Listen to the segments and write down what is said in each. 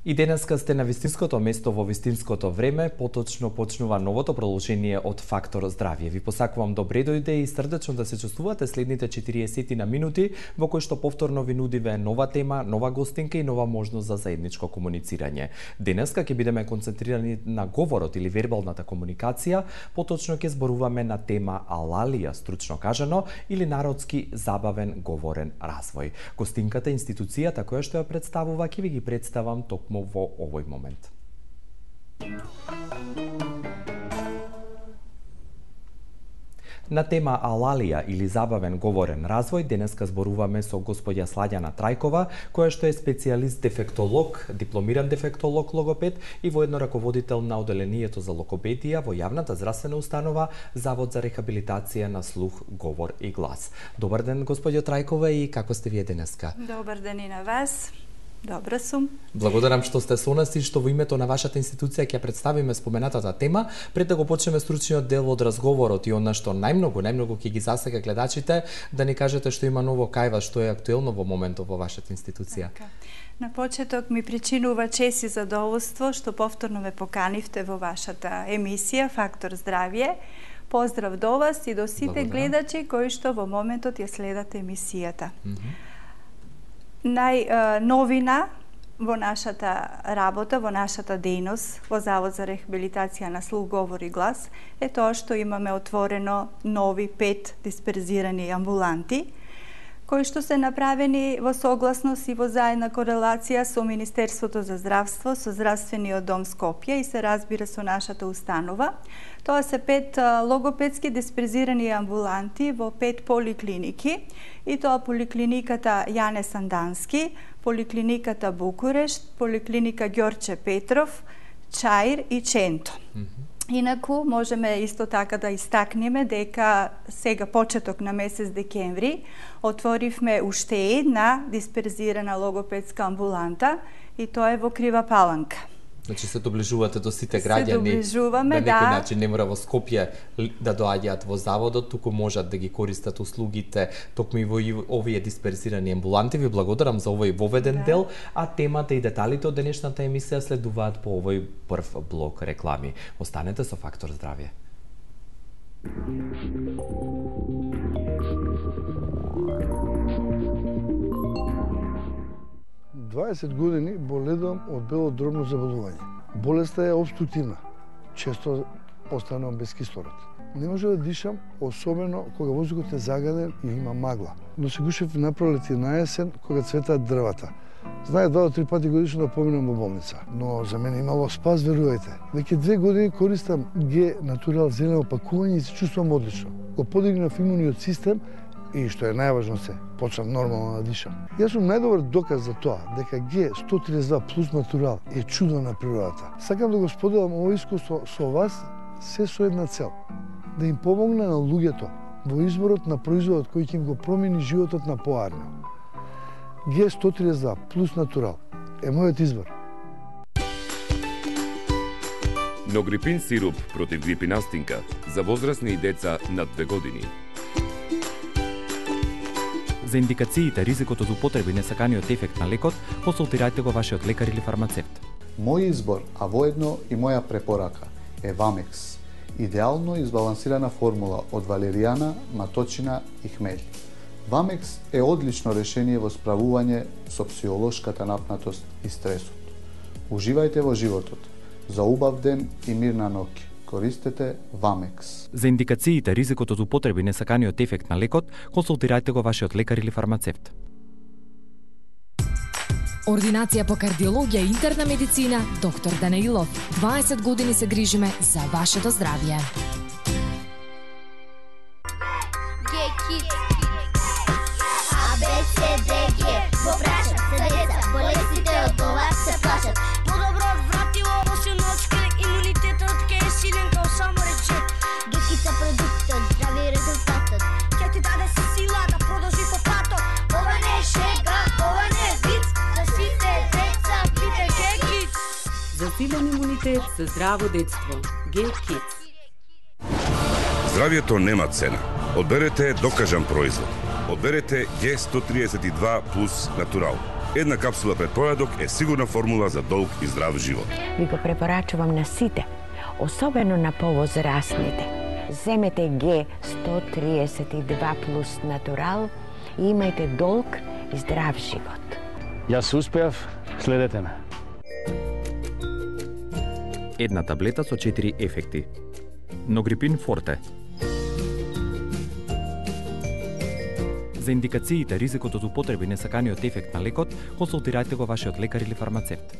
И денеска сте на вистинското место во вистинското време, поточно почнува новото продолжение од Фактор здравје. Ви посакувам добре дојде и срдечно да се чувствувате следните 40 на минути, во кои што повторно ви нудиве нова тема, нова гостинка и нова можност за заедничко комуницирање. Денеска ќе бидеме концентрирани на говорот или вербалната комуникација, поточно ќе зборуваме на тема алалија, стручно кажано, или народски забавен говорен развој. Гостинката, институцијата која што ја представува, ќе ви ги представам токму во овој момент. На тема алалија или забавен говорен развој денеска зборуваме со господја Сладјана Трајкова, која што е специјалист дефектолог, дипломиран дефектолог логопед и воедно раководител на оделението за логопедија во јавната здравствена установа Завод за рехабилитација на слух, говор и глас. Добар ден, господјо Трајкова, и како сте вие денеска? Добар ден и на вас. Добра сум. Благодарам што сте со нас и што во името на вашата институција ќе представиме споменатата тема. Пред да го почнеме стручниот дел од разговорот и она што најмногу ќе ги засега гледачите, да ни кажете што има ново кај вас, што е актуелно во моментот во вашата институција. На почеток ми причинува чест и задоволство што повторно ме поканивте во вашата емисија Фактор здравје. Поздрав до вас и до сите гледачи кои што во моментот ја следат емисијата. Најновина во нашата работа, во нашата дејност во Завод за рехабилитација на слух, говор и глас е тоа што имаме отворено нови 5 дисперзирани амбуланти, кои што се направени во согласност и во заедна корелација со Министерството за здравство, со Здравствениот дом Скопје и се разбира со нашата установа. Тоа се 5 логопедски дисперзирани амбуланти во 5 поликлиники, и тоа поликлиниката Јане Сандански, поликлиниката Букурешт, поликлиника Ѓорче Петров, Чаир и Ченто. Инаку, можеме исто така да истакнеме дека сега почеток на месец декември отворивме уште една дисперзирана логопедска амбуланта и тоа е во Крива Паланка. Значи се доближувате до сите граѓани, доближуваме, на некој начин не мора во Скопје да доаѓаат во заводот, туку можат да ги користат услугите токму и во овие дисперзирани амбуланти. Ви благодарам за овој воведен дел, а темата и деталите од денешната емисија следуваат по овој прв блок реклами. Останете со Фактор здравје. 20 години боледувам од бело дробно заболување. Болеста е обструктивна. Често останувам без кислород. Не може да дишам, особено кога воздухот е загаден и има магла. Но се гушев на пролет и на есен кога цветаат дрвата. Знае 2 до 3 пати годишно да поминам во болница, но за мене имало спас, верувајте. Веќе 2 години користам Г Натурал зелено пакување и се чувствувам одлично. Го подигнав имуниот систем и што е најважно се, почнав нормално да дишам. Јас сум најдобар доказ за тоа дека Г132 плюс Натурал е чудо на природата. Сакам да го споделам ово искуство со вас се со една цел, да им помогне на луѓето во изборот на производот кој ќе им го промени животот на поарно. Г132 плюс Натурал е мојот избор. Ногрипин сируп против грипи настинка за возрастни и деца над 2 години. За индикациите, ризикот од употреба и несаканиот ефект на лекот, консултирајте го вашиот лекар или фармацевт. Мој избор, а воедно и моја препорака е Вамекс. Идеално избалансирана формула од валеријана, маточина и хмелј. Вамекс е одлично решение во справување со психолошката напнатост и стресот. Уживајте во животот. За убав ден и мирна ноќ. Користете Вамекс. За индикациите, ризикот од употреба и несаканиот ефект на лекот, консултирајте го вашиот лекар или фармацевт. Ординација по кардиологија и интерна медицина, доктор Данаилов. 20 години се грижиме за вашето здравје. Засилен имунитет за здраво детство. Г-Kids. Здравјето нема цена. Одберете докажан производ. Одберете Г132 плюс Натурал. една капсула пред појадок е сигурна формула за долг и здрав живот. Ви го препорачувам на сите, особено на повозрастните. Земете Г132 плюс натурал и имајте долг и здрав живот. Јас успеав, следете ме. Една таблета со 4 ефекти. Ногрипин Форте. За индикациите, ризикот од употреба и несаканиот ефект на лекот, консултирајте го вашиот лекар или фармацевт.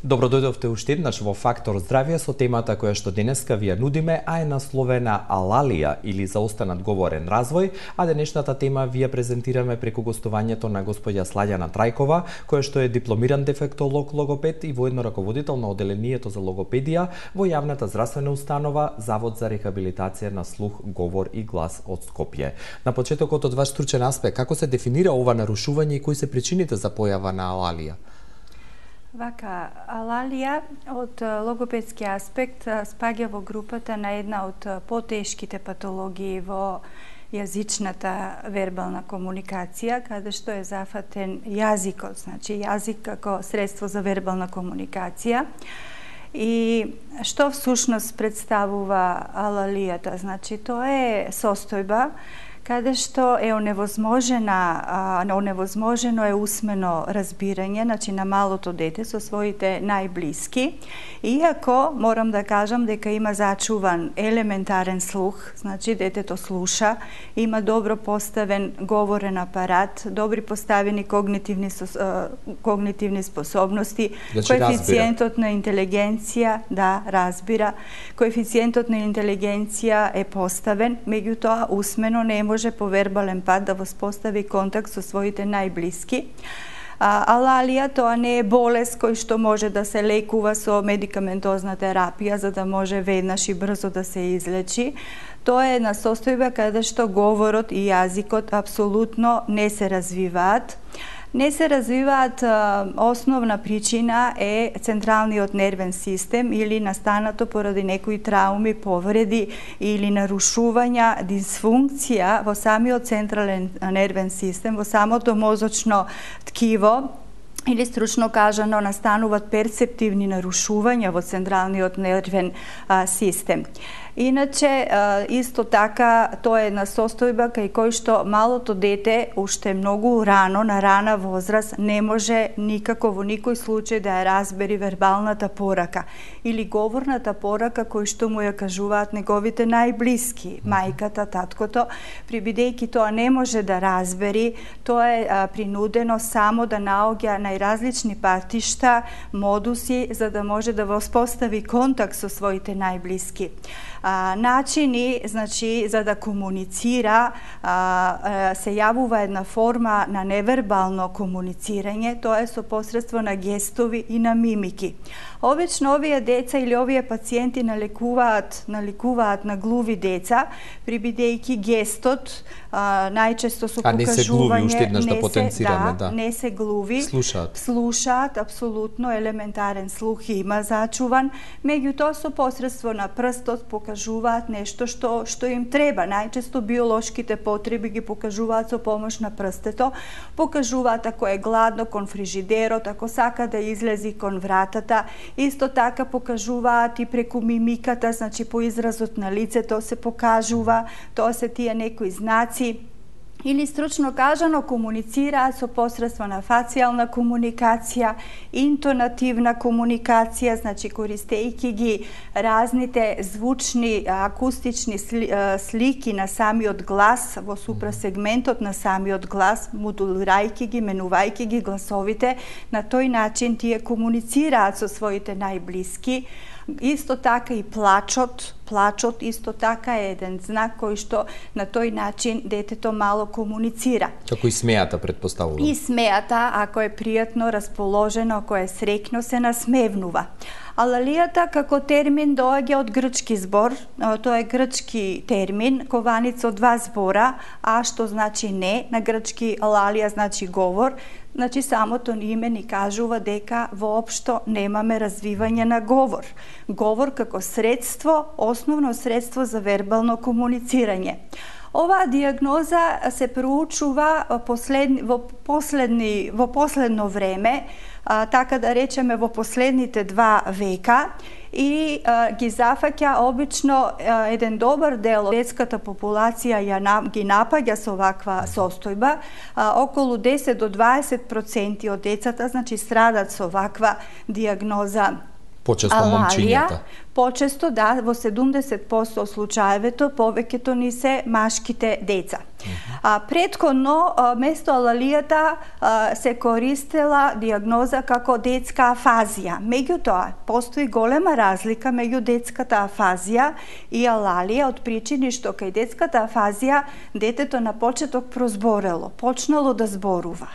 Добро дојдовте уште еднаш во Фактор здравје со темата која што денеска ви ја нудиме, а е насловена Алалија или заостанат говорен развој, а денешната тема ви ја презентираме преку гостувањето на господја Слаѓана Трајкова, која што е дипломиран дефектолог логопед и воедно раководител на оделението за логопедија во јавната здравствена установа Завод за рехабилитација на слух, говор и глас од Скопје. На почетокот од ваш стручен аспект, како се дефинира ова нарушување и кои се причините за појава на алалија? Вака, алалија од логопедски аспект спаѓа во групата на една од потешките патологии во јазичната вербална комуникација, каде што е зафатен јазикот, значи јазик како средство за вербална комуникација. И што всушност представува алалијата? Значи, тоа е состојба каде што е оневозможено е усмено разбирање, значи на малото дете со своите најблиски, иако морам да кажам дека има зачуван елементарен слух, значи детето слуша, има добро поставен говорен апарат, добри поставени когнитивни способности, коефициентот на интелигенција, да, разбира, коефициентот на интелигенција е поставен, меѓутоа усмено не може по вербален пат да воспостави контакт со своите најблиски. Алалија тоа не е болест кој што може да се лекува со медикаментозна терапија за да може веднаш и брзо да се излечи. Тоа е една состојба каде што говорот и јазикот апсолутно не се развиваат. Не се развиваат, основна причина е централниот нервен систем или настанато поради некои трауми, повреди или нарушувања, дисфункција во самиот централен нервен систем, во самото мозочно ткиво, или стручно кажано настануваат перцептивни нарушувања во централниот нервен систем. Иначе, исто така, тоа е една состојба кај кој што малото дете уште многу рано, на рана возраст, не може никако во никој случај да ја разбери вербалната порака или говорната порака кој што му ја кажуваат неговите најблиски, мајката, таткото, прибидејќи тоа не може да разбери, тоа е принудено само да наоѓа најразлични патишта, модуси, за да може да воспостави контакт со своите најблиски. Начини, значи, за да комуницира, се јавува една форма на невербално комуницирање, тоа е со посредство на гестови и на мимики. Обично овие деца или овие пациенти наликуваат на глуви деца, прибидејќи гестот најчесто со покажување... А не се глуви, уште еднаш да потенцираме, да. Не се глуви. Слушаат, апсолутно, елементарен слух има зачуван, меѓутоа со посредство на прстот покажуваат нешто што им треба. Најчесто биолошките потреби ги покажуваат со помош на прстето, покажуваат ако е гладно кон фрижидерот, ако сака да излези кон вратата. Исто така покажуваат и преку мимиката, значи по изразот на лицето се покажува, тоа се тие некои знаци. Или стручно кажано комуницираат со посредство на фацијална комуникација, интонативна комуникација, значи користејќи ги разните звучни, акустични слики на самиот глас во супрасегментот на самиот глас, модулирајќи ги, менувајќи ги гласовите, на тој начин тие комуницираат со своите најблиски. Исто така и плачот исто така е еден знак кој што на тој начин детето мало комуницира. Како и смејата, предпоставувам. И смејата, ако е пријатно расположено, ако е среќно, се насмевнува. Алалијата како термин доаѓа од грчки збор, тоа е грчки термин, кованица од два збора, а што значи не, на грчки алалија значи говор, Значи, самото име ни кажува дека воопшто немаме развивање на говор. Говор како средство, основно средство за вербално комуницирање. Оваа диагноза се проучува во последно време, така да речеме во последните 2 века, и ги зафаќа обично еден добар дел од детската популација ги напаѓа со оваква состојба. Околу 10 до 20% од децата, значи, страдат со оваква диагноза. Почесто момчињата. Почесто, да, во 70% од случаевето повеќето ни се машките деца. Претходно, место алалијата се користела диагноза како детска афазија. Меѓутоа, постои голема разлика меѓу детската афазија и алалија од причини што кај детската афазија детето на почеток прозборело, почнало да зборува.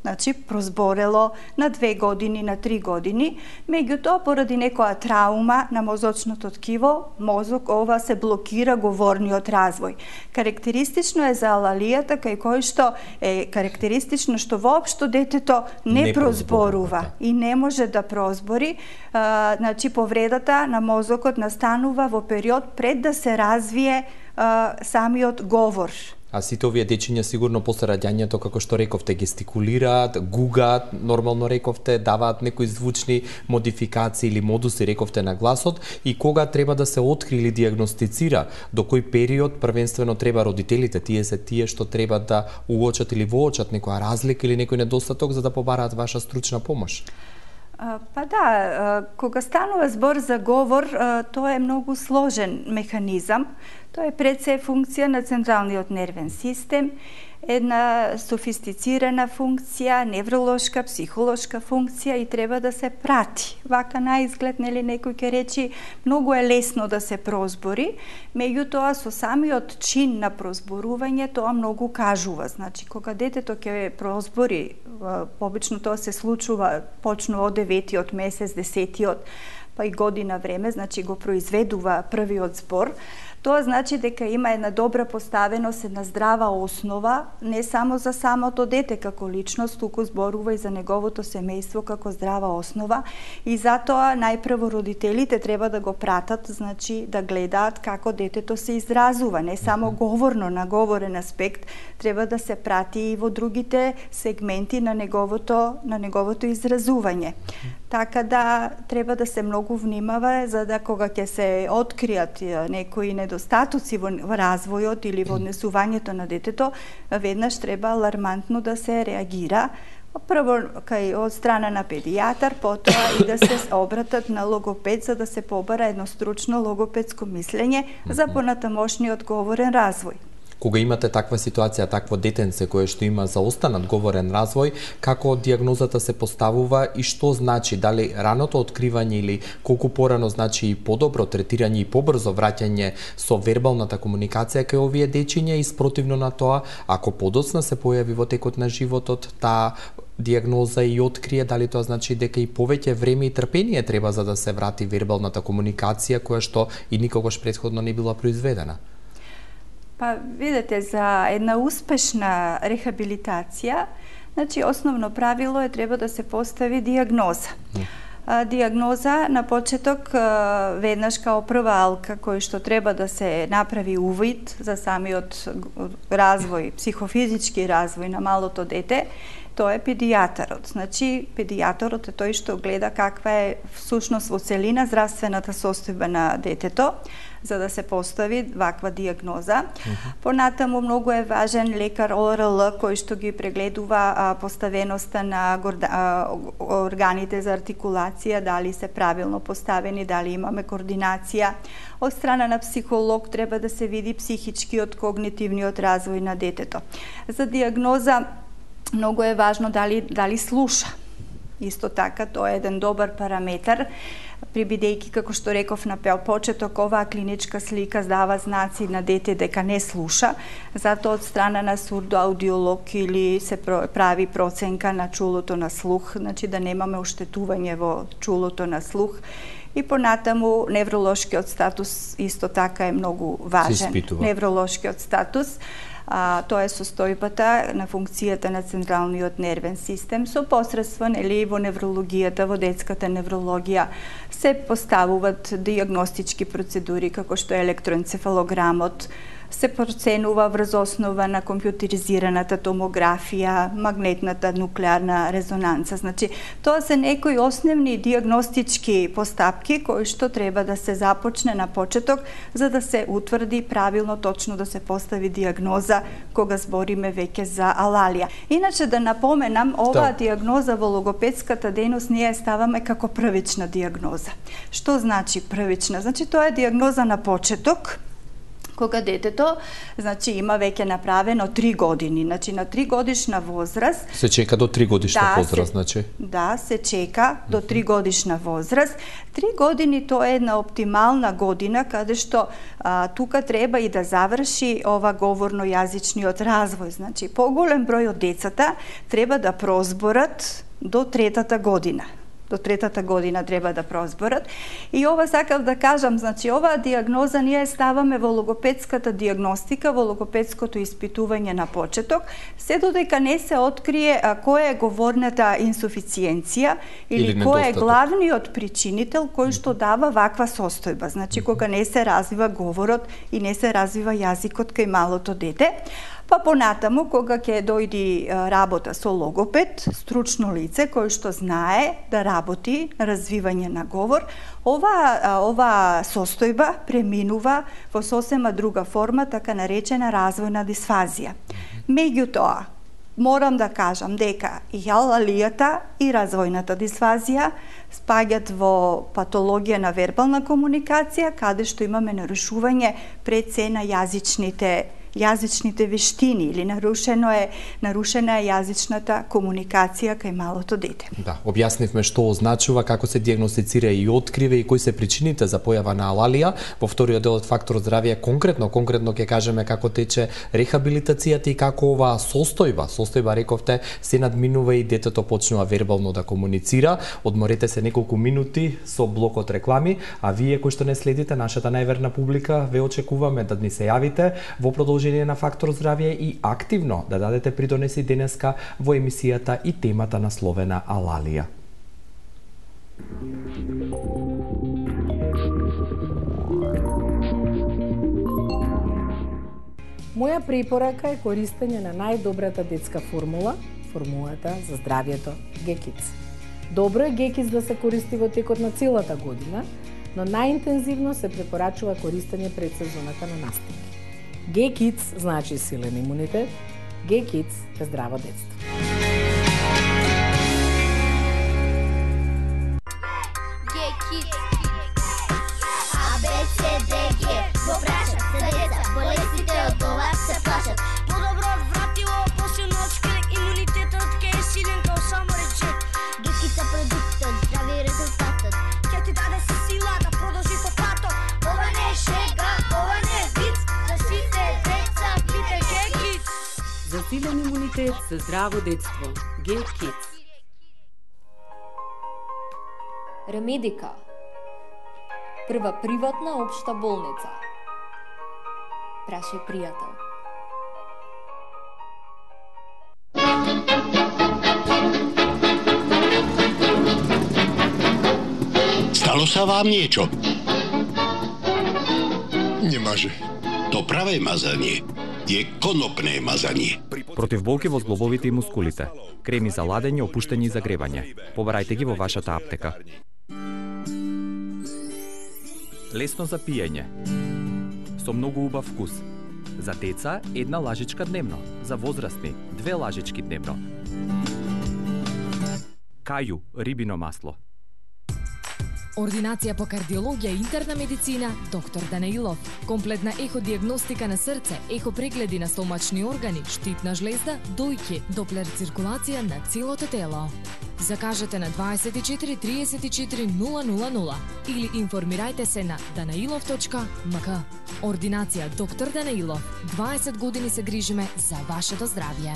Значи, прозборело на 2 години, на 3 години, меѓутоа, поради некоја траума на мозочното ткиво, мозок ова се блокира говорниот развој. Карактеристично е за алалијата, кај кој што е карактеристично што воопшто детето не прозборува и не може да прозбори. Значи, повредата на мозокот настанува во период пред да се развие самиот говор. А сите овие дечиња сигурно после раѓањето, како што рековте, гестикулираат, гугаат, нормално рековте, даваат некои звучни модификации или модуси, рековте, на гласот, и кога треба да се откри или диагностицира, до кој период првенствено треба родителите, тие се тие што треба да уочат или воочат некоја разлика или некој недостаток за да побараат ваша стручна помош? Па да, кога станува збор за говор, тоа е многу сложен механизам. Тоа е пред се функција на централниот нервен систем, една софистицирана функција, невролошка, психолошка функција, и треба да се прати. Вака на изглед, нели, некој ќе речи многу е лесно да се прозбори, меѓутоа со самиот чин на прозборување тоа многу кажува. Значи, кога детето ќе прозбори, обично тоа се случува почну од 9-тиот месец, 10-тиот, па и година време, значи го произведува првиот збор. Тоа значи дека има една добра поставеност, една здрава основа, не само за самото дете како личност, туку зборува и за неговото семејство како здрава основа, и затоа најпрво родителите треба да го пратат, значи да гледаат како детето се изразува, не само говорно, на говорен аспект, треба да се прати и во другите сегменти на неговото изразување. Така да треба да се многу внимава, за да кога ќе се откријат некои недостатоци во развојот или во однесувањето на детето, веднаш треба алармантно да се реагира. Прво од страна на педијатар, потоа и да се обратат на логопед, за да се побара едно стручно логопедско мислење за понатамошниот говорен развој. Кога имате таква ситуација, такво детенце кое што има заостанат говорен развој, како диагнозата се поставува и што значи, дали раното откривање или колку порано значи и подобро третирање и побрзо враќање со вербалната комуникација кај овие дечиња, и спротивно на тоа, ако подоцна се појави во текот на животот таа диагноза и открие, дали тоа значи дека и повеќе време и трпение треба за да се врати вербалната комуникација која што и никогаш претходно не била произведена? Па, видете, за една успешна рехабилитација, значи, основно правило е треба да се постави диагноза. Диагноза на почеток, веднаш као прва алка, кој што треба да се направи увид за самиот развој, психофизички развој на малото дете, тоа е педијатарот. Значи, педијатарот е тој што гледа каква е всушност во целина здравствената состојба на детето, за да се постави ваква диагноза. Понатаму многу е важен лекар ОРЛ кој што ги прегледува поставеноста на органите за артикулација, дали се правилно поставени, дали имаме координација. Од страна на психолог треба да се види психичкиот, когнитивниот развој на детето. За диагноза многу е важно дали слуша. Исто така, тоа е еден добар параметар, бидејќи, како што реков на почеток, оваа клиничка слика дава знаци на дете дека не слуша, затоа од страна на сурдоаудиолог или се прави проценка на чулото на слух, значи да немаме оштетување во чулото на слух. И понатаму невролошкиот статус исто така е многу важен. Невролошкиот статус. Тоа е состојбата на функцијата на централниот нервен систем со посредство во неврологијата, во детската неврологија се поставуваат диагностички процедури како што е електроенцефалограмот, се проценува врз основа на компјутеризираната томографија, магнетната нуклеарна резонанца. Значи, тоа се некои основни диагностички постапки кои што треба да се започне на почеток за да се утврди правилно, точно да се постави диагноза кога збориме веќе за алалија. Иначе да напоменам, оваа диагноза во логопедската дејност ние ставаме како првична диагноза. Што значи првична? Значи, тоа е диагноза на почеток, кога детето, значи, има веќе направено 3 години, значи на 3 годишна возраст. Се чека до 3 годишна возраст, значи? Да, се чека до 3 годишна возраст. 3 години тоа е една оптимална година каде што тука треба и да заврши ова говорно-јазичниот развој. Значи, поголем број од децата треба да прозборат до 3-та година. До 3-та година треба да прозборат. И ова сакав да кажам, значи оваа диагноза ние ставаме во логопедската диагностика, во логопедското испитување на почеток, се додека не се открие која е говорната инсуфициенција или кој е главниот причинител кој што дава ваква состојба. Значи кога не се развива говорот и не се развива јазикот кај малото дете. Па понатаму, кога ќе дојди работа со логопед, стручно лице кој што знае да работи на развивање на говор, ова состојба преминува во сосема друга форма, така наречена развојна дисфазија. Меѓутоа, морам да кажам дека и алалијата и развојната дисфазија спаѓаат во патологија на вербална комуникација, каде што имаме нарушување пред се на јазичните вештини или нарушена е јазичната комуникација кај малото дете. Да, објаснивме што означува, како се дијагностицира и открива и кои се причините за појава на алалија. Во вториот дел од Фактор здравје конкретно ќе кажеме како тече рехабилитацијата и како оваа состојба рековте се надминува и детето почнува вербално да комуницира. Одморете се неколку минути со блокот реклами, а вие кои што не следите нашата најверна публика, ве очекуваме да ни се јавите во продолжение на Фактор здравје и активно да дадете придонеси денеска во емисијата и темата насловена алалија. Моја препорака е користење на најдобрата детска формулата за здравјето Г-Kids. Добро е Г-Kids да се користи во текот на целата година, но најинтензивно се препорачува користење пред сезоната на настапи. Г-Kids значи силен имунитет, Г-Kids е здраво детство. Г-Kids А, Б, С, Д, Г Го прашат се деца, болестите од ова се плашат. Подобро вратило, после ночка, имунитетот ке е силен као само рече. Г-Kids е продуктот, здрави резултатот. Ке ти даде се сила да продолжи по патот. Ова не е шега, ова не е виц. За силен имунитет, за здраво детство. Г-Kids. Ремедика. Прва приватна општа болница. Прашај пријател. Stalo sa vám niečo? Немаже. To pravé mazanie je konopné mazanie. Против болки во зглобовите и мускулите. Креми за ладење, опуштање и загревање. Побарајте ги во вашата аптека. Лесно за пиење. Со многу убав вкус. За деца 1 лажичка дневно. За возрастни 2 лажички дневно. Кају рибино масло. Ординација по кардиологија и интерна медицина, доктор Данаилов. Комплетна еходиагностика на срце, ехопрегледи на стомачни органи, штитна жлезда, дојки, доплер циркулација на целото тело. Закажете на 24 34 000 или информирајте се на danailov.mk. Ординација доктор Данаилов. 20 години се грижиме за вашето здравје.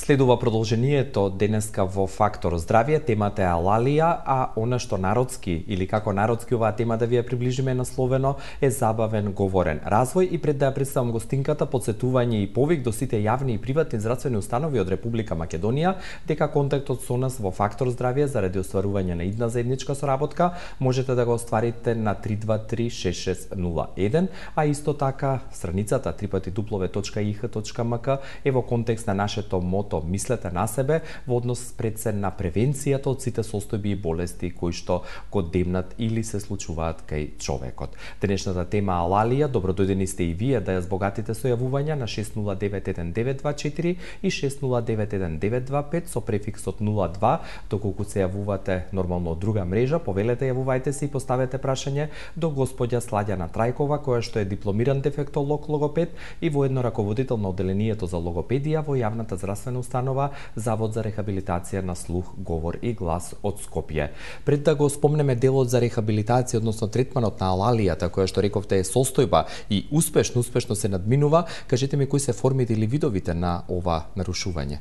Следува продолжението денеска во Фактор здравје, темата е алалија, а она што народски или како народски оваа тема да ви ја приближиме насловено е забавен говорен развој. И пред да ја представам гостинката, подсетување и повик до сите јавни и приватни здравствени установи од Република Македонија дека контактот со нас во Фактор здравје заради остварување на идна заедничка соработка можете да го остварите на 3236601, а исто така страницата www.ih.mk е во контекст на нашето мото "Мислете на себе" во однос пред се на превенцијата од сите состојби и болести кои што го демнат или се случуваат кај човекот. Денешната тема алалија, добродојдени сте и вие да ја збогатите со јавувања на 6091924 и 6091925 со префиксот 02, доколку се јавувате нормално од друга мрежа, повелете, јавувајте се и поставете прашање до господја Сладјана Трајкова, која што е дипломиран дефектолог логопед и воедно раководител на одделението за логопедија во јавната здравствена установа Завод за рехабилитација на слух, говор и глас од Скопје. Пред да го спомнеме делот за рехабилитација, односно третманот на алалијата, која што рековте е состојба и успешно се надминува, кажете ми кои се формите или видовите на ова нарушување?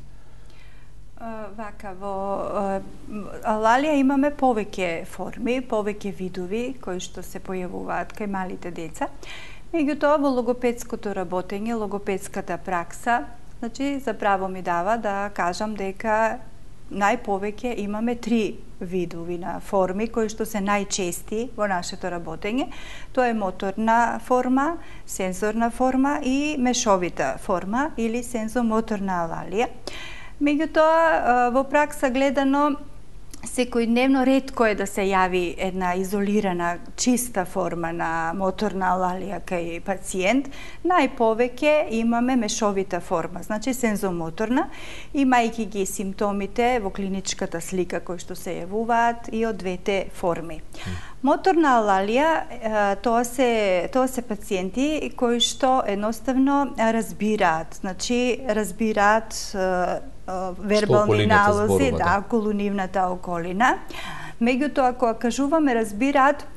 Вака, во алалија имаме повеќе форми, повеќе видови кои што се појавуваат кај малите деца. Меѓутоа, во логопедското работење, логопедската пракса, значи, заправо ми дава да кажам дека најповеќе имаме 3 видови на форми кои што се најчести во нашето работење. Тоа е моторна форма, сензорна форма и мешовита форма или сензомоторна алалија. Меѓутоа, во пракса гледано, секојдневно ретко е да се јави една изолирана, чиста форма на моторна алалија кај пациент. Најповеќе имаме мешовита форма, значи сензомоторна, имајќи ги симптомите во клиничката слика кои што се јавуваат и од двете форми. Моторна алалија, тоа се пациенти кои што едноставно разбираат, значи разбираат вербални налози, да, околу нивната околина. Меѓутоа, кога кажуваме разбираат,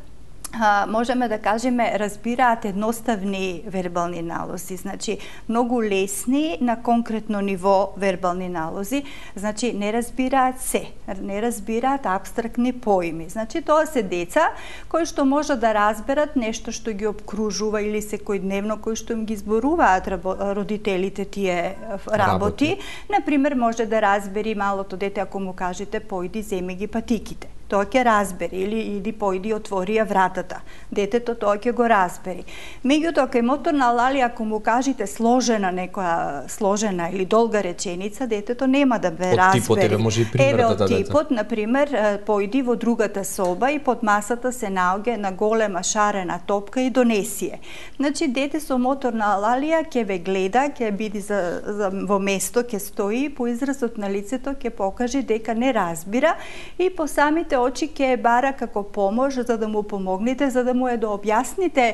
можеме да кажеме разбираат едноставни вербални налози, значи многу лесни на конкретно ниво вербални налози, значи не разбираат се, не разбираат апстрактни поими. Значи тоа се деца кои што може да разберат нешто што ги обкружува или секојдневно кои што им ги зборуваат родителите тие работи. Например, може да разбери малото дете ако му кажете појди земи ги патиките. Тоа ќе разбери, или иди појди отвори ја вратата. Детето тоа ќе го разбери. Меѓутоа, кај моторна алалија, ако му кажете сложена некоја сложена или долга реченица, детето нема да бе разбери. Од типот, еве може и пример да дадете. Еве од типот, например, појди во другата соба и под масата се наоѓа на голема шарена топка и донеси ја. Значи, дете со моторна алалија ќе ве гледа, ќе биде во место, ќе стои, по изразот на лицето ќе покаже дека не разбира и по самите очи ќе бара како помош за да му помогнете, за да му е да објасните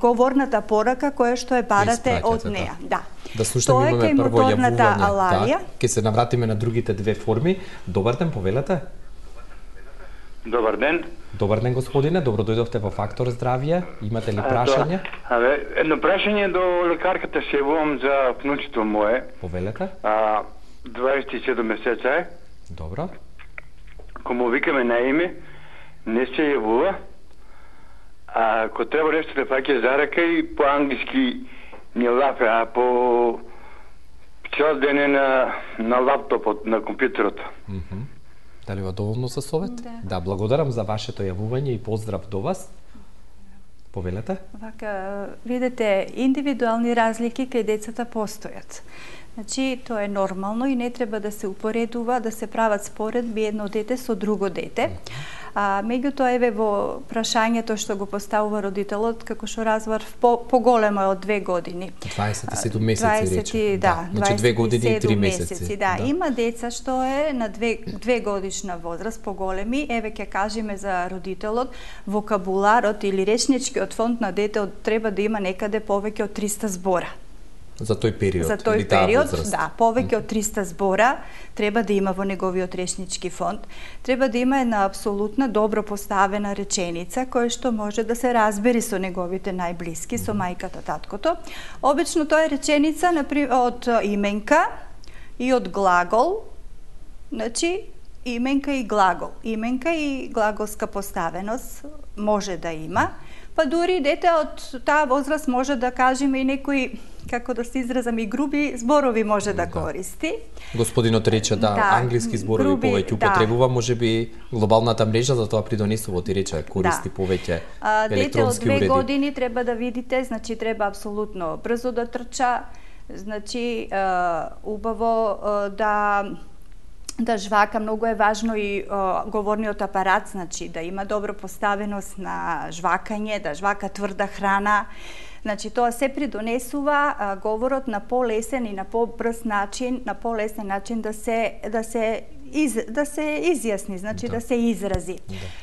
говорната порака која што е барате од неа. Да. Да слушаме, имаме прво јавување. Да, ќе се навратиме на другите две форми. Добар ден, повелете. Добар ден. Добар ден, господине. Добро дојдовте во Фактор здравје. Имате ли прашање? Едно прашање до лекарката, се јавувам за внучето мое. Повелете. 27 месеца е. Добро. Кому викаме на име, не се јавува. Ако треба нешто да фаќа за рака и по англиски не лафе, а по цел ден е на лаптопот, на компјутерот. Дали ва доволно за совет? Да, благодарам за вашето јавување и поздрав до вас. Повелете? Вака, видите, индивидуални разлики кај децата постојат. Значи, тоа е нормално и не треба да се упоредува, да се прават споредби едно дете со друго дете. Меѓутоа, еве во прашањето што го поставува родителот, како што разбрав, поголемо е од 2 години. 27 месеци рече. Да, значи 2 години и 3 месеци. Да, има деца што е на 2 годишна возраст, поголеми. Еве ќе кажеме за родителот, вокабуларот или речничкиот фонд на детето треба да има некаде повеќе од 300 збора. За тој период. За тој период, да, повеќе од 300 збора треба да има во неговиот речнички фонд. Треба да има една апсолутна добро поставена реченица која што може да се разбери со неговите најблиски, со мајката, таткото. Обично тоа е реченица од именка, и од глагол, значи именка и глагол. Именка и глаголска поставеност може да има, па дури дете од таа возраст може да кажеме и некои, како да се изразам, и груби зборови може да користи. Господинот рече англиски зборови повеќе употребува, можеби глобалната мрежа за тоа придонесува, ти рече, користи повеќе електронски уреди. Дете од 2 години треба да видите, значи треба апсолутно брзо да трча, значи убаво да жвака, многу е важно и говорниот апарат, значи да има добра поставеност на жвакање, да жвака тврда храна. Значи тоа се придонесува говорот на полесен и на побрз начин, на полесен начин да се изјасни, значи да се изрази.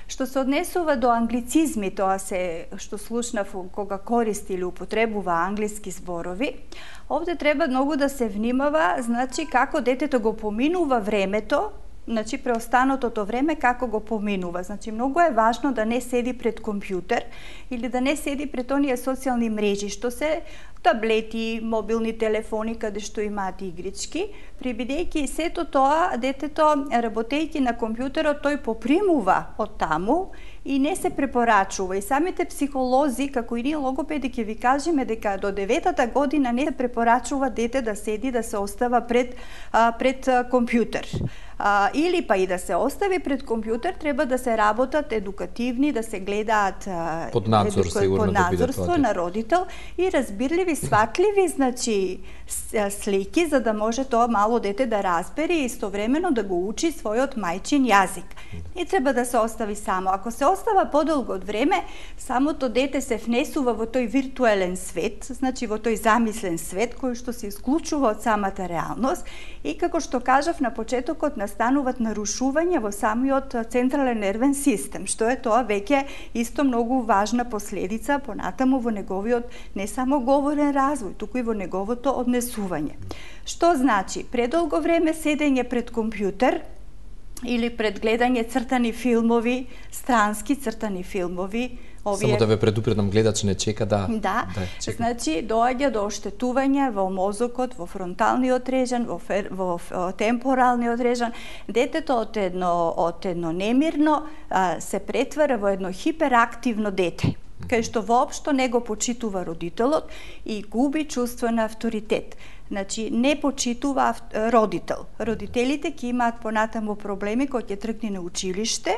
Што се однесува до англицизми, тоа се што слушнав кога користи или употребува англиски зборови, овде треба многу да се внимава, значи како детето го поминува времето, значи преостанатото време како го поминува. Значи многу е важно да не седи пред компјутер или да не седи пред оние социјални мрежи што се таблети, мобилни телефони каде што имаат игрички, прибидејќи сето тоа детето работејќи на компјутерот тој попримува од таму и не се препорачува. И самите психолози, како и ние логопеди, ќе ви кажеме дека до 9-та година не се препорачува дете да седи, да се остава пред компјутер. Или па и да се остави пред компјутер, треба да се работат едукативни, да се гледаат под надзор, под надзорство на родител и разбирливи, сватливи, значи слики, за да може тоа мало дете да разбере и истовремено да го учи својот мајчин јазик. Не треба да се остави само. Ако се остава подолго од време, самото дете се внесува во тој виртуелен свет, значи во тој замислен свет кој што се исклучува од самата реалност и како што кажав на почетокот настануваат нарушувања во самиот централен нервен систем, што е тоа веќе исто многу важна последица понатаму во неговиот не само говорен развој, туку и во неговото однесување. Што значи? Предолго време седење пред компјутер или пред гледање цртани филмови, странски цртани филмови. Само да ве предупредам, гледач не чека да чека. Значи доаѓа до оштетување во мозокот, во фронталниот режан, во темпоралниот режан. Детето од едно немирно се претвара во едно хиперактивно дете, кај што воопшто не го почитува родителот и губи чувство на авторитет. Значи, не почитува родител. Родителите ќе имаат понатаму проблеми кога ќе тргне на училиште,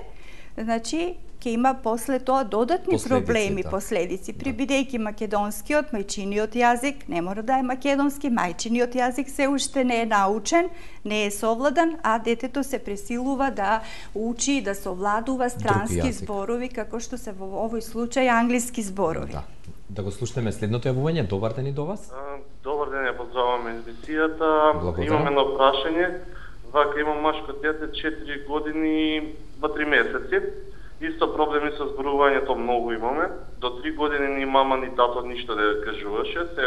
значи, ќе има после тоа додатни проблеми, последици. Прибидејќи македонскиот, мајчиниот јазик, не мора да е македонски, мајчиниот јазик се уште не е научен, не е совладан, а детето се пресилува да учи, да совладува странски зборови, како што се во овој случај англиски зборови. Да го слушнеме следното јавување. Добар ден и до вас. Добар ден, ја поздравуваме емисијата. Имам едно прашање. Вака имам машко дете, 4 години, 3 месеци. Исто проблеми со зборувањето многу имаме. До 3 години ни мама ни тато ништо не кажуваше. Се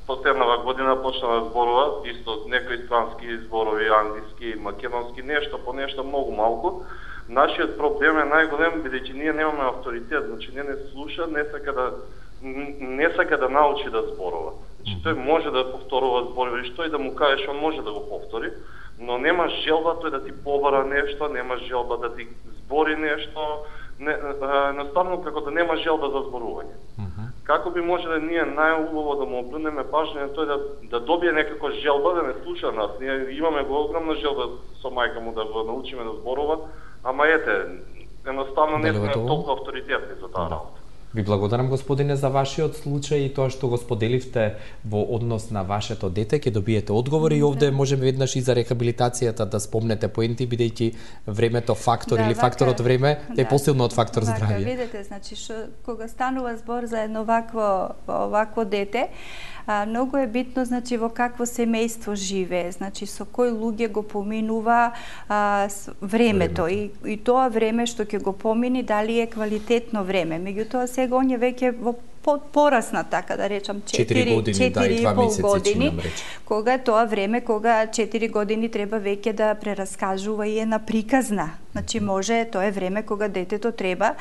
последнава година почна да зборува исто некои странски зборови, англиски, македонски, нешто по нешто многу малку. Нашиот проблем е најголем бидејќи ние немаме авторитет, значи не слуша, не сака да научи да зборува. Значи тој може да повторува зборови, што и да му кажеш, он може да го повтори, но нема желба тој да ти побара нешто, нема желба да ти збори нешто, едноставно како да нема желба за зборување. Како би можеле ние најубаво да му обрнеме пажња на тој да добие некако желба да не слуша нас. Ние имаме го огромна желба со мајка му да го научиме да зборува, ама ете, едноставно не сме толку авторитетни за таа работа. Ви благодарам, господине, за вашиот случај и тоа што го споделивте во однос на вашето дете. Ќе добиете одговори и овде можеме веднаш и за рехабилитацијата да спомнете поенти, бидејќи времето фактор или факторот време е посилно од фактор здравје. Видете, значи, кога станува збор за едно вакво дете, многу е битно, значи, во какво семејство живее, значи, со кој луѓе го поминува времето и тоа време што ќе го помини, дали е квалитетно време. Меѓутоа, сега онje веќе порасна, така да речам, 4 години, да, и 2 месеци, години, кога е тоа време, кога 4 години треба веќе да прераскажува и една приказна. Значи може, тоа е време кога детето треба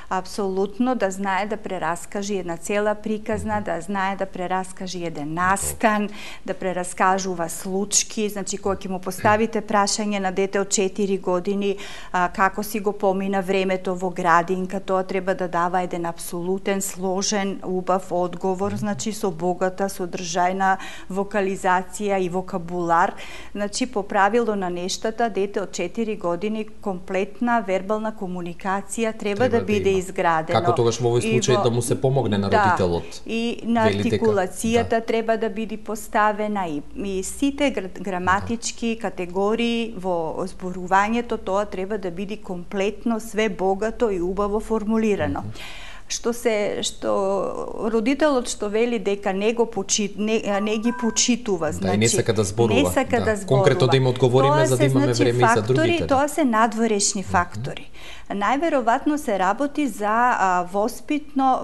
апсолутно да знае да прераскаже една цела приказна, да знае да прераскаже еден настан, да прераскажува случки, значи кога ќе му поставите прашање на дете од 4 години како си го помина времето во градинка, тоа треба да дава еден апсолутен, сложен, убав одговор, значи со богата содржајна вокализација и вокабулар. Значи по правило на нештата дете од 4 години комплетна вербална комуникација треба да биде изградено. Како тогаш во овој случај да му се помогне на родителот? Да, и на артикулацијата треба да биде поставена и сите граматички категории во зборувањето, тоа треба да биде комплетно, све богато и убаво формулирано. Што родителот што вели дека не ги почитува, значи не сака да зборува. Конкретно да им одговориме за да имаме време и за другите. Тоа се надворешни фактори. Најверојатно се работи за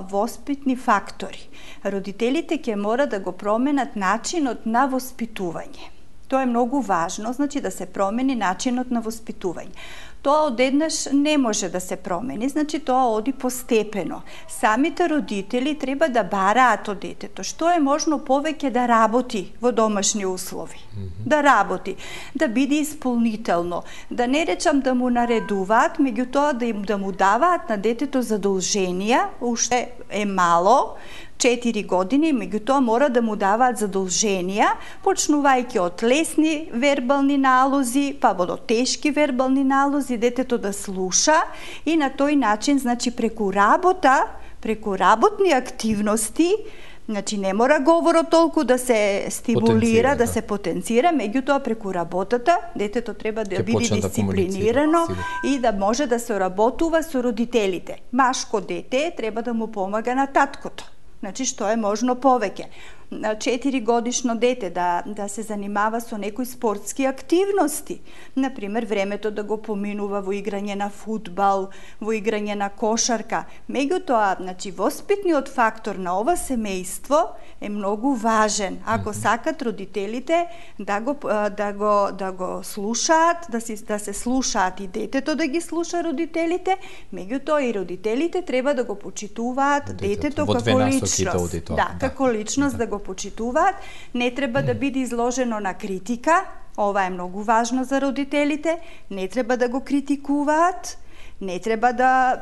воспитни фактори. Родителите ќе мора да го променат начинот на воспитување. Тоа е многу важно, значи да се промени начинот на воспитување. Тоа одеднаш не може да се промени, значи тоа оди постепено. Самите родители треба да бараат од детето што е можно повеќе да работи во домашни услови. Да работи, да биде исполнително, да не речам да му наредуваат, меѓутоа да му даваат на детето задолженија, уште е мало, 4 години, меѓутоа мора да му даваат задолженија, почнувајќи од лесни вербални налози, па до тешки вербални налози, детето да слуша и на тој начин, значи преку работни активности, значи не мора говорот толку да се стимулира, да се потенцира, меѓутоа преку работата детето треба да биде дисциплинирано и да може да се работува со родителите. Машко дете треба да му помага на таткото. Значи, што е можно повеќе. 4 годишно дете да се занимава со некои спортски активности. Например, времето да го поминува во играње на фудбал, во играње на кошарка. Меѓутоа, значи, воспитниот фактор на ова семејство е многу важен. Ако сакат родителите да го слушаат, да се слушаат и детето да ги слуша родителите, меѓутоа и родителите треба да го почитуваат детето како личност. Да, како личност да го почитуваат, не треба да биде изложено на критика, ова е многу важно за родителите, не треба да го критикуваат, не треба да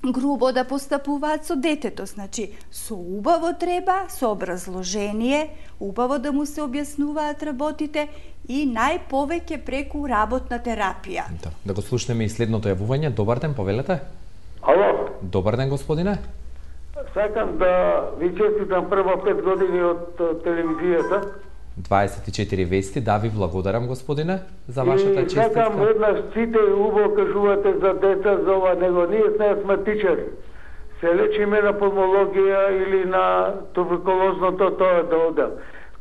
грубо да постапуваат со детето, значи со убаво треба, со образложение, убаво да му се објаснуваат работите и најповеќе преку работна терапија. Да го слушнеме и следното јавување. Добар ден, повелете. Ало. Добар ден, господине. Сакам да ви честитам прво 5 години од телевизијата. 24 вести, да ви благодарам, господине, за вашата честитка. И сакам еднаш сите убаво кажувате за деца, за ова, него ние сме астматичари. Се лечиме на пулмологија или на туберкулозното тоа да одел.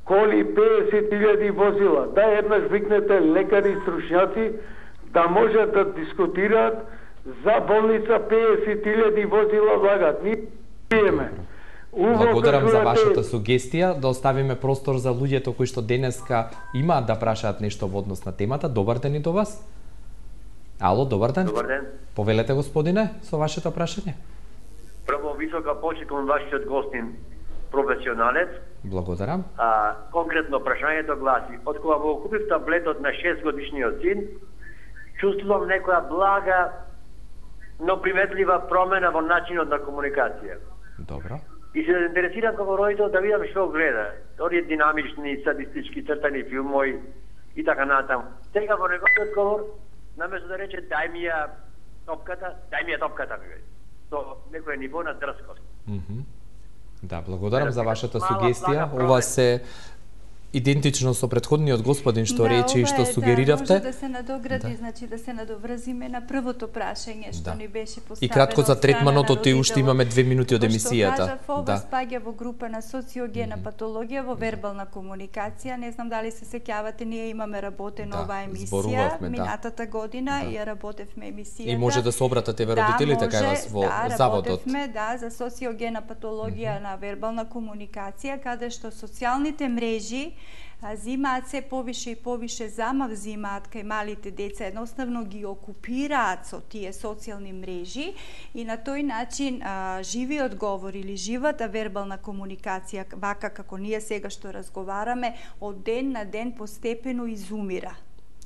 Коли 50.000 возила, да еднаш викнете лекари и стручњаци да можат да дискутираат за болница 50.000 возила влагат. Ние пиеме. Благодарам за вашата сугестија, да оставиме простор за луѓето кои што денеска имаат да прашаат нешто во однос на темата. Добар ден и до вас. Ало, добар ден. Добар ден. Повелете, господине, со вашето прашање. Прво висока почит кон вашиот гостин, професионалец. Благодарам. Конкретно прашањето гласи: од кога го купив таблетот на 6 годишниот син, чувствувам некоја блага, но приметлива промена во начинот на комуникација. Добро. И се интересирам како родител да видам што гледа. Оние динамични, садистички цртани филмови и така натаму. Сега во неговиот одговор, наместо да рече дај ми ја топката ми вели. Со некој ниво на дрскост. Да, благодарам за вашата сугестија. Ова се идентично со претходниот господин што рече и што сугериравте. Може да се надогради, значи да се надоврзиме на првото прашање што ни беше поставено. И кратко за третманот, оти уште имаме 2 минути од емисијата. Што кажав, ова спаѓа во група на социогена патологија, во вербална комуникација. Не знам дали се сеќавате, ние имаме работена оваа емисија минатата година и ја работевме емисијата. И може да се обратите ве родителите кај вас во заводот. Работевме, за социогена патологија на вербална комуникација, каде што социјалните мрежи зимаат се повише и повише замав зимаат кај малите деца, едноставно ги окупираат со тие социјални мрежи и на тој начин живиот говор или живата вербална комуникација, вака како ние сега што разговараме, од ден на ден постепено изумира.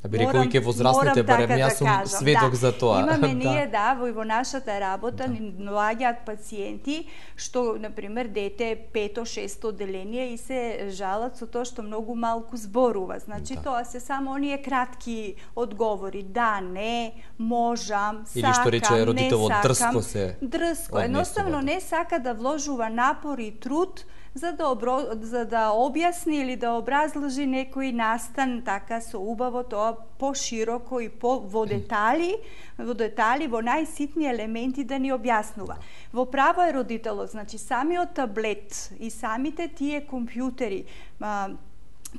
Би рекол и ке возрастните, барем јас сум сведок за тоа. Имаме ние, во нашата работа, ни доаѓаат пациенти, што, например, дете 5-6 оделение и се жалат со тоа што многу малку зборува. Значи, тоа се само оние кратки одговори. Да, не, можам, сакам, или што рече родителот, дрско се. Дрско. Едноставно не сака да вложува напор и труд за да објасни или да образложи некој настан така со убаво, тоа пошироко и во детали, во најситни елементи да ни објаснува. Во право е родителот, значи самиот таблет и самите тие компјутери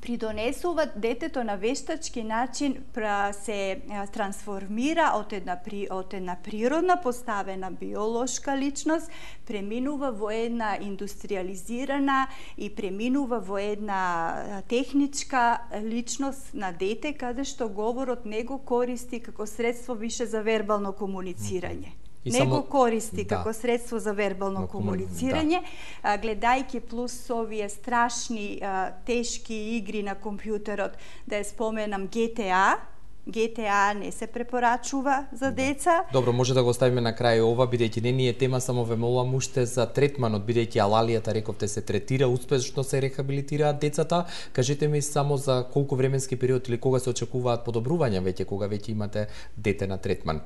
придонесуваат детето на вештачки начин се трансформира од една природна поставена биолошка личност, преминува во една индустриализирана и преминува во една техничка личност на дете, каде што говорот не го користи како средство више за вербално комуницирање. Не го користи како средство за вербално комуницирање, гледајќи плюс овие страшни, тешки игри на компјутерот, да ја споменам GTA не се препорачува за деца. Добро, може да го оставиме на крај ова, бидејќи не ни е тема, само ве молам уште за третманот, бидејќи алалијата, рековте, се третира, успешно се рехабилитираат децата. Кажете ми само за колку временски период или кога се очекуваат подобрувања веќе, кога веќе имате дете на третман?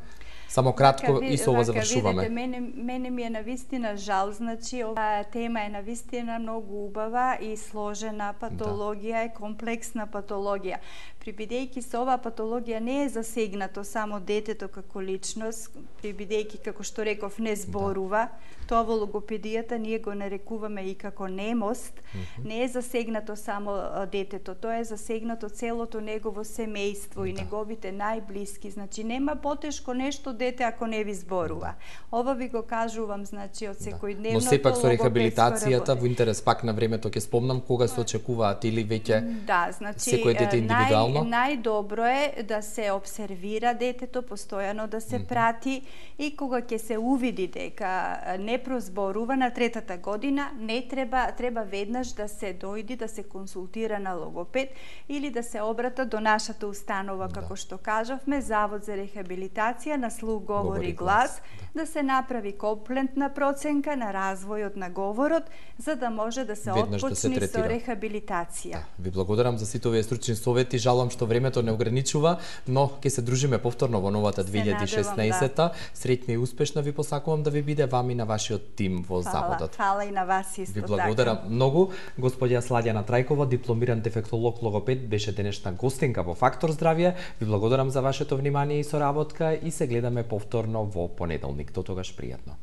Само кратко и со ова завршуваме. Видите, мене ми е навистина жал, значи оваа тема е навистина многу убава и сложена патологија, е комплексна патологија. Прибидејќи се оваа патологија не е засегнато само детето како личност, прибидејќи како што реков не зборува, тоа во логопедијата ние го нарекуваме и како немост, не е засегнато само детето, тоа е засегнато целото негово семејство и неговите најблиски, значи нема потешко нешто дете ако не ви зборува. Ова ви го кажувам, значи, од секојдневното логопедско. Но сепак со рехабилитацијата во интерес пак на времето ќе спомнам кога се очекуваат или веќе секој дете индивидуално? Најдобро е да се обсервира детето, постојано да се прати и кога ќе се увиди дека не прозборува на 3-та година, не треба веднаш да се дојди да се консултира на логопед или да се обрата до нашата установа, како што кажавме, Завод за рехабилитација на слух, говор и глас, да се направи комплентна проценка на развојот на говорот, за да може да се отпочне со рехабилитација. Ви благодарам за сите овие стручни совети, жалам што времето не ограничува, но ќе се дружиме повторно во новата 2016-та. Среќна и успешна ви посакувам да ви биде вам и на вашиот тим во заводот. Фала и на вас исто така. Ви благодарам многу. Господја Сладјана Трајкова, дипломиран дефектолог логопед, беше денешна гостинка во Фактор здравје. Ви благодарам за вашето внимание и соработка и се гледаме повторно во понеделник. До тогаш пријатно.